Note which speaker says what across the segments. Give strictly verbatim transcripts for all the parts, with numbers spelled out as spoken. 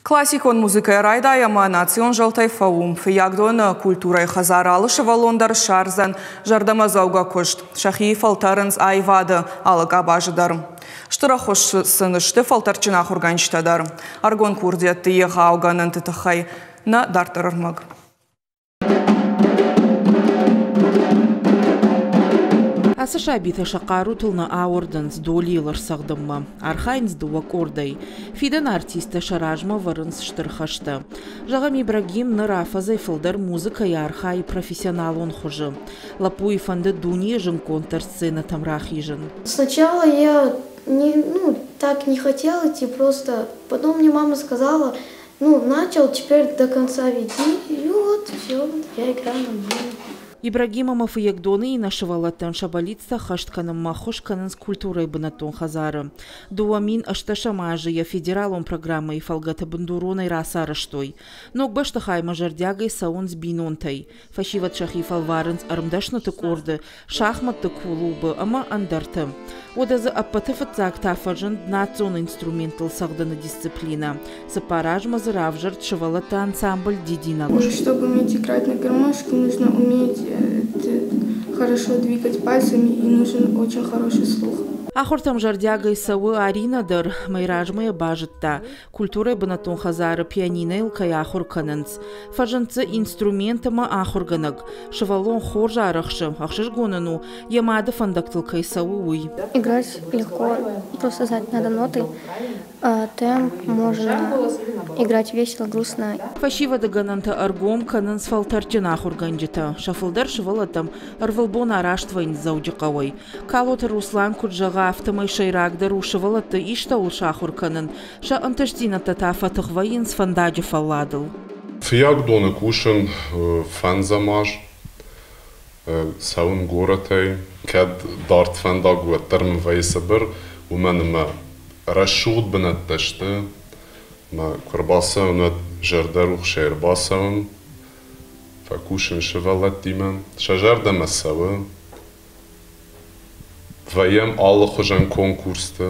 Speaker 1: Классикон музыкӕйӕ райдай ӕмӕ национ зӕлтӕй фӕу. Фыййагдоны культурӕйы хӕдзары алы сывӕллон дӕр ссардзӕн зӕрдӕмӕдзӕугӕ куыст. Сӕхи фӕлтӕрынц аивады алы къабазы дӕр. Стыр ӕххуыс сын сты фӕлтӕрдджын ахуыргӕнджытӕ дӕр. Ӕрыгон курдиӕтты егъау гӕнӕнты тыххӕй нӕ дарддӕр ӕрмӕг.
Speaker 2: Ацы сабитӕ сӕ хъарутыл нӕ ауӕрдынц долийыл ӕрцӕгъдынмӕ. Архайынц дыууӕ къордӕй. Фидӕны артисттӕ сӕ размӕ вӕрынц стыр хӕстӕ. Зӕгъӕм, Ибрагим ныр афӕдзӕй фылдӕр музыкӕйы архайы профессионалон хуызы. Лӕппуйы фӕнды дунейы зындгонддӕр сценӕтӕм рахизын.
Speaker 3: Сначала я не, ну, так не хотела идти, просто потом мне мама сказала, ну, начал, теперь до конца веди, и вот все, я играю нормально.
Speaker 2: Ибрагим ӕмӕ Фыййагдоны иннӕ сывӕллӕттӕн сӕ бӕллицтӕ ӕххӕст кӕнынмӕ ӕххуыс кӕнынц культурӕйы бынӕттон хӕдзары. Дыууӕ мин ӕстдӕсӕм азы йӕ федералон программӕйы фӕлгӕты бындуронӕй рацарӕзтой. Ног бӕстыхаймӕ зӕрдиагӕй цӕуынц бинонтӕй. Фӕсивӕд сӕхи фӕлварынц ӕрмдӕсныты къорды, шахматты клубы ӕмӕ ӕндӕрты. Уӕдӕ дзы ӕппӕты фыццаг та фӕзынд национ инструменттыл цӕгъдыны дисциплинӕ. Цыппар азмӕ дзы равзӕрд сывӕллӕтты ансамбль «Дидинӕг».
Speaker 4: Чтобы уметь играть на гармошке, нужно уметь хорошо двигать пальцами и нужен очень хороший слух.
Speaker 2: Ахуыртӕм зӕрдиагӕй цӕуы Аринӕ дӕр. Мӕй размӕ йӕ базыдта, культурӕйы бынӕттон хӕдзары пианинӕйыл кӕй ахуыр кӕнынц. Фӕзынд дзы инструмент ӕмӕ ахуыргӕнӕг. Сывӕллон хорз арӕхсы, ӕхсызгон ын у, йӕ мады фӕндӕгтыл кӕй цӕуы, уый.
Speaker 5: Играть легко, просто знать надо ноты, темп, можно играть весело, грустно.
Speaker 2: Фӕсивӕды гӕнӕнтӕ ӕргом кӕнынц фӕлтӕрдджын ахуыргӕнджытӕ. Сӕ фылдӕр сывӕллӕттӕм ӕрвылбон араст вӕййынц Дзӕуджыхъӕуӕй. Калоты Руслан куыд зӕгъы, афтӕмӕй сӕйрагдӕр у сывӕллӕтты истӕуыл сахуыр кӕнын, сӕ ӕнтыстдзинӕдтӕ та фӕтых вӕййынц фӕндаджы фӕлладыл.
Speaker 6: Фыййагдоны кусын фӕндзӕм аз, цӕуын горӕтӕй. Кӕд дард фӕндаг у, уӕддӕр мын вӕййы цыбыр, уымӕн ӕмӕ рӕсугъд бынӕттӕ сты. Мӕ куы ӕрбацӕуын, уӕд зӕрдӕрухсӕй ӕрбацӕуын, фӕкусын сывӕллӕттимӕ. Сӕ зӕрдӕмӕ цӕуы. Вӕййӕм алыхуызӕн конкурсты,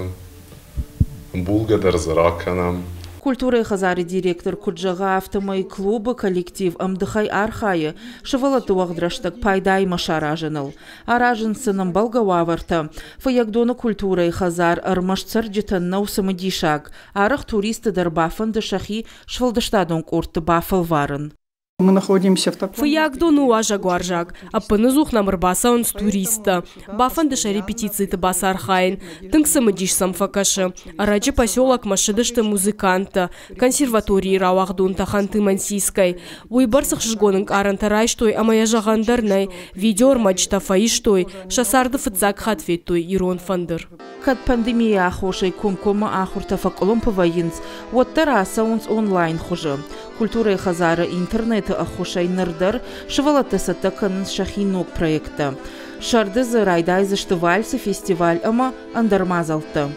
Speaker 6: ӕмбулгӕ дӕр дзы ракӕнӕм.
Speaker 2: Культурӕйы хӕдзары директор куыд зӕгъы, афтӕмӕй клубы коллектив ӕмдыхӕй архайы сывӕллӕтты уӕгъд рӕстӕг пайдаимӕ саразыныл. Аразынц сын ӕмбӕлгӕ уавӕртӕ. Фыййагдоны культурӕйы хӕдзар ӕрмӕст цӕрджытӕн нӕу цымыдисаг. Арӕх туристты дӕр бафӕнды сӕхи сфӕлдыстадон къордты бафӕлварын.
Speaker 7: Мы находимся в таком...
Speaker 8: Фыййагдон у уазӕгуарзаг. Ӕппынӕдзух нӕм ӕрбацӕуынц туристтӕ. Бафӕнды сӕ репетициты бацархайын. Тынг цымыдис сӕм фӕкӕсы. Ӕрӕджы поселокмӕ ссыдысты музыканттӕ, консерваторийы рауагъдонтӕ Ханты-Мансийскӕй. Уыйбӕрц ӕхсызгон ӕнкъарӕнтӕ райстой ӕмӕ йӕ зӕгъӕн дӕр нӕй. Видеоӕрмӕджытӕ фӕистой, сӕ царды фыццаг хатт федтой ирон фӕндыр.
Speaker 2: Кӕд пандемийы аххосӕй комкоммӕ ахуыртӕ фӕкъуылымпы вӕййынц, уӕддӕр ацӕуынц онлайн хуызы. Культурӕйы хӕдзары интернеты ӕххуысӕй ныр дӕр сывӕллӕттӕ цӕттӕ кӕнынц сӕхи ног проекттӕ. Сӕрды дзы райдайдзысты вальсы фестиваль ӕмӕ ӕндӕр мадзӕлттӕ.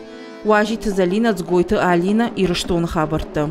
Speaker 2: Уазиты Зӕлинӕ, Дзгойты Алинӕ, Ирыстоны хабӕрттӕ.